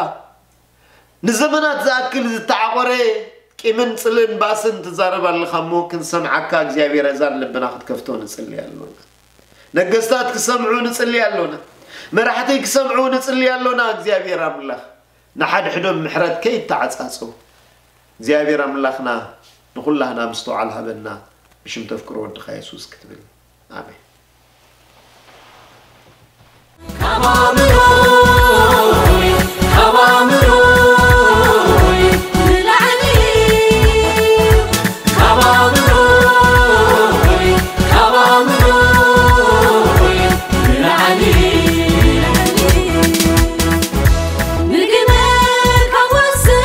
ንዘመናት ዝኣክል ዝተዓቖረ ቂምን ጽልን ባእስን ትዛረብ ኣለኻ እሞ ክንሰምዓካ እግዚኣብሔር ኣእዛን ልብና ክትከፍቶ ንጽሊ ኣሎና። ነገስታት ክሰምዑ ንጽሊ ኣሎና። መራሕቲ ክሰምዑ ንጽሊ ኣሎና። እግዚኣብሔር ኣምላኽ ንሓድሕዶም ምሕረት ከይተዓጻጸው እግዚኣብሔር ኣምላኽና ንኹላህና ምስትውዓል ሃበና። ብሽም ተፍቅሮ ወድኻ የሱስ ክትብል ኣሜን። ካብ ኣእምሮይ፣ ካብ ኣእምሮይ ንላዕሊ፣ ካብ ኣእምሮይ፣ ካብ ኣእምሮይ ንላዕሊ። ምግመ ካብ ወስን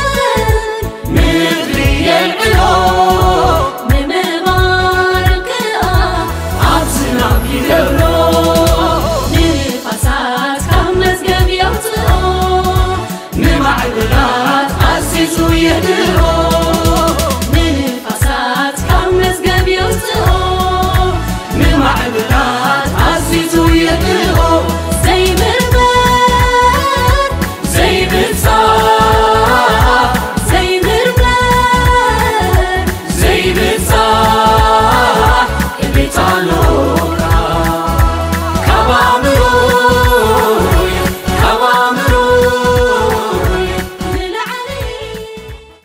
ምድሪ የልዕሎ፣ ንምባር ከኣ ኣብ ዝናብ ይገብሮ። ንንፋሳት ካብ መዝገብ የውጽኦ፣ ንማዕበላት ኣዚዙ የድርኦ። ንንፋሳት ካብ መዝገብ የውጽኦ፣ ንማዕበላት ኣዚዙ የድርኦ። ዘይምርመር ዘይብጻሕ፣ ዘይምርመር ዘይብጻሕ